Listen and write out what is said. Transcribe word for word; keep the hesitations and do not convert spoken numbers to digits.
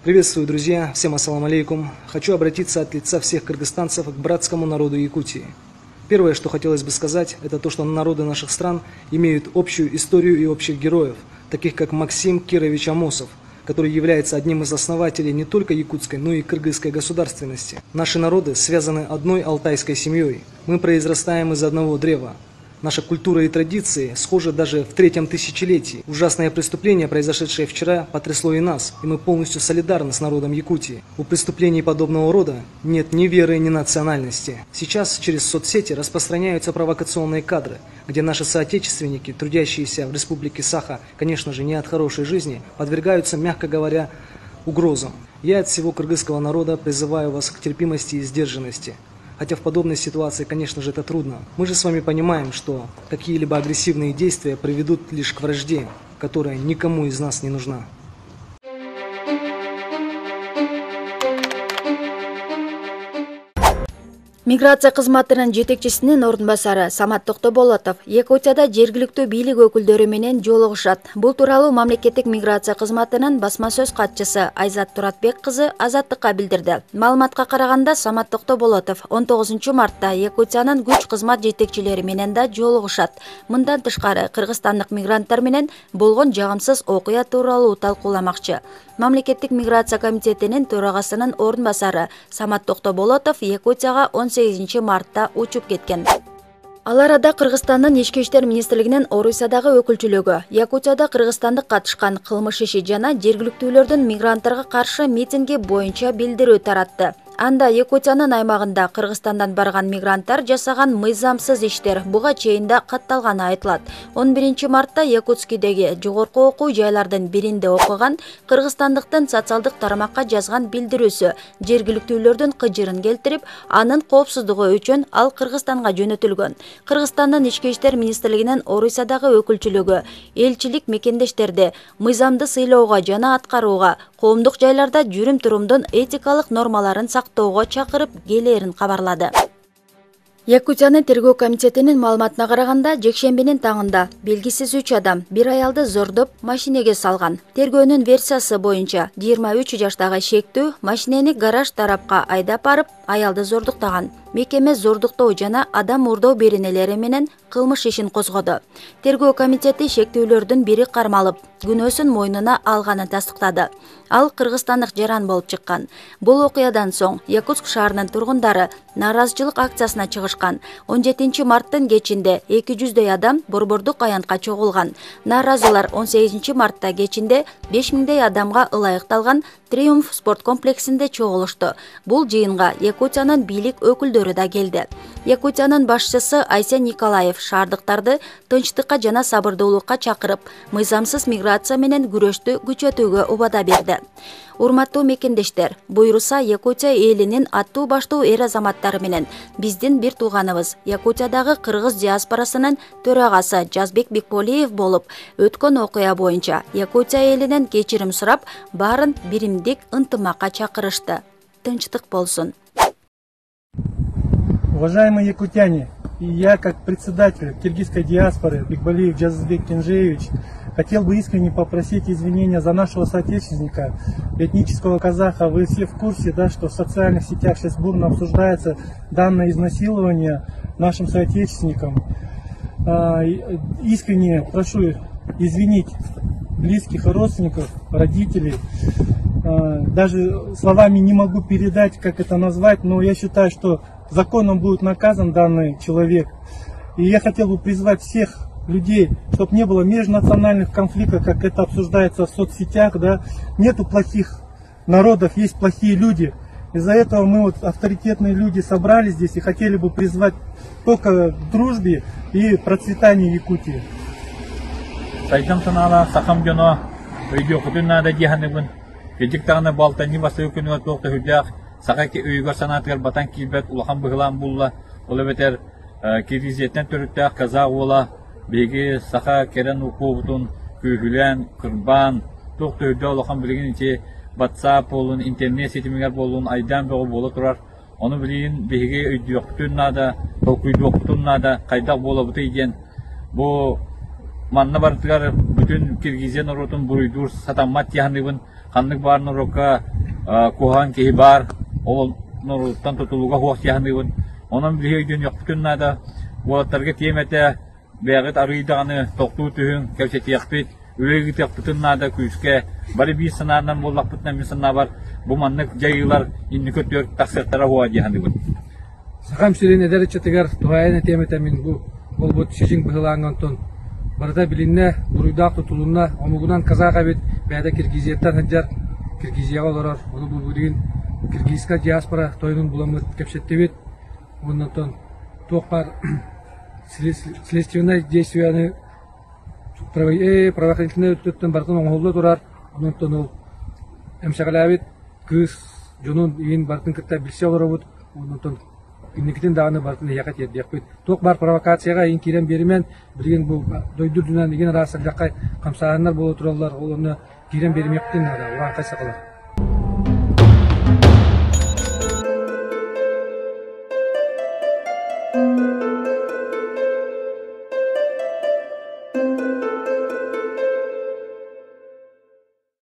Приветствую, друзья! Всем ассаламу алейкум! Хочу обратиться от лица всех кыргызстанцев к братскому народу Якутии. Первое, что хотелось бы сказать, это то, что народы наших стран имеют общую историю и общих героев, таких как Максим Кирович Амосов, который является одним из основателей не только якутской, но и кыргызской государственности. Наши народы связаны одной алтайской семьей. Мы произрастаем из одного древа. Наша культура и традиции схожи даже в третьем тысячелетии. Ужасное преступление, произошедшее вчера, потрясло и нас, и мы полностью солидарны с народом Якутии. У преступлений подобного рода нет ни веры, ни национальности. Сейчас через соцсети распространяются провокационные кадры, где наши соотечественники, трудящиеся в республике Саха, конечно же, не от хорошей жизни, подвергаются, мягко говоря, угрозам. Я от всего кыргызского народа призываю вас к терпимости и сдержанности. Хотя в подобной ситуации, конечно же, это трудно. Мы же с вами понимаем, что какие-либо агрессивные действия приведут лишь к вражде, которая никому из нас не нужна. Миграция кызматынын жетекчисинин ордун басары Самат Токтоболотов Якутияда жергиликтүү бийлик өкүлдөрү менен жолугушат. Бул тууралуу мамлекеттик миграция кызматынын басма сөз катчысы Айзат Туратбек кызы Азаттыкка билдирди. Маалыматка караганда, Самат Токтоболотов он тогузунчу мартта Якутиянын күч кызмат жетекчилери менен да жолугушат. Мындан тышкары кыргызстандык мигранттар менен болгон жагымсыз окуя тууралуу талкууламакчы. Мамлекеттик миграция комитетинин төрагасынын ордун басары Самат Токтоболотов Якутияга он сегизинчи мартта учуп кеткен. Ал арада Кыргызстандын Ички иштер министрлигинин Орусиядагы өкүлчүлүгү Якутияда кыргызстандык катышкан кылмыш иши жана жергиликтүүлөрдүн мигранттарга каршы митинги боюнча билдирүү таратты. Анда Якутиянын аймагында Кыргызстандан барган мигранттар жасаган мыйзамсыз иштер буга чейин да катталганы айтылат. он биринчи мартта Якутскидеги жогорку окуу жайлардын биринде окуган кыргызстандыктын социалдык тарамакка жазган билдирүүсү жергиликтүүлөрдүн кыжырын келтирип, анын коопсуздугу үчүн ал Кыргызстанга жөнөтүлгөн. Кыргызстандын Ички иштер министрлигинин Орусиядагы өкүлчүлүгү элчилик мекендештерди мыйзамды сыйлоого жана аткарууга, коомдук жайларда жүрүм-турумдун этикалык нормаларын сактоого чакырып келээрин кабарлады. Якутиянын тергөө комитетинин маалыматына караганда, жекшембинин таңында белгисиз үч адам бир аялды зордоп машинеге салган. Тергөөнүн версиясы боюнча жыйырма үч жаштагы шектүү машинени гараж тарапка айдап барып, аялды зордуктаган. Мекеме зордуктоо жана адам уурдоо беренелери менен кылмыш ишин козгоду. Тергөө комитети шектүүлөрдүн бири кармалып, күнөөсүн мойнуна алганын тастыктады. Ал кыргызстандык жаран болуп чыккан. Бул окуядан соң Якутск шаарынын тургундары нааразычылык акциясына чыгышкан. он жетинчи марттын кечинде эки жүздөй адам борбордук аянтка чогулган. Нааразылар он сегизинчи мартта кечинде беш миңдей адамга ылайыкталган Триумф спорт комплексинде чогулушту. Бул жыйынга Якутиянын бийлик өкүлдөрү да келди. Якутиянын башчысы Айсен Николаев шаардыктарды тынчтыкка жана сабырдуулукка чакырып, мыйзамсыз миграция менен күрөштү күчөтүүгө убада берди. Урматтуу мекендештер, буйруса Якутия элинин аттуу баштуу эр азаматтары менен биздин бир тууганыбыз Якутиядагы кыргыз диаспорасынын төрагасы Жазбек Бекполиев болуп, өткөн окуя боюнча Якутия элинен кечирим сурап, баарын биримдик ынтымакка чакырышты. Тынчтык болсун. Уважаемые якутяне, и я, как председатель киргизской диаспоры Бекполиев Жазбек Кенжеевич, хотел бы искренне попросить извинения за нашего соотечественника, этнического казаха. Вы все в курсе, да, что в социальных сетях сейчас бурно обсуждается данное изнасилование нашим соотечественникам. Искренне прошу извинить близких и родственников, родителей. Даже словами не могу передать, как это назвать, но я считаю, что законом будет наказан данный человек. И я хотел бы призвать всех людей, чтобы не было межнациональных конфликтов, как это обсуждается в соцсетях, да. Нету плохих народов, есть плохие люди. Из-за этого мы, вот, авторитетные люди, собрались здесь и хотели бы призвать только к дружбе и процветанию Якутии. Сайдам санала сахам жоно өйдө кутунада жиханыбын кежиктагына балтани басы өкүнүгө тоокта хүдяк сагаки өйгөр санатыгар батан кийбет улахан быгылан булла ол бетер киргизеттен төрүттак казак ола беги саха керен укубутун күйгүлен кырбан тоокта өйдө улахан билигинче WhatsApp болун интернет сетимигер болун айдан бөгө боло турар. Onu bilin bege öydüktünada, tokuyduktünada kaydak bolabıtı igen. Bu manna bartıgar bütün Kirgiziyan orotun buruydur satamat yahanıbın kanlık barını roka кухан кеһи бар, ол нуруттан тутулуга хуак яһаныбын. Онун билийден яктыннада уаттарга темете бәгыт арыйдаганы токтуу түһүн кепсетиякпит, үлеги яктыннада күскә бары бир санадан боллакпытнан мисына бар. Бу маннык жайылар инни көтөр таксыктара хуак яһаныбын. Сахам сирин эдерече тегер туайна темете мин бу болбут шижин быһылангантон барда билинне буруйдак тутулунна омугунан казага бит бәдә Киргизияттан хаҗар Киргизияга олорор onu бу деген киргизска диаспора тойнун буламыт кепсеттебит. Оннан токпар следственное действияны правоохранительный өттөттөн бартын оңолдо турар. Оннан ол эмшагалабит кыз жонун ин бартын кытта билсе олоробут. Оннан Никитин даганы бартын якат еддекпит. Ток бар провокацияга ин кирен беримен билген бу дойдурдунан деген расак жакка камсагандар боло туралар. Олону кирен бермектин ада уран кайсакалар. Thank you.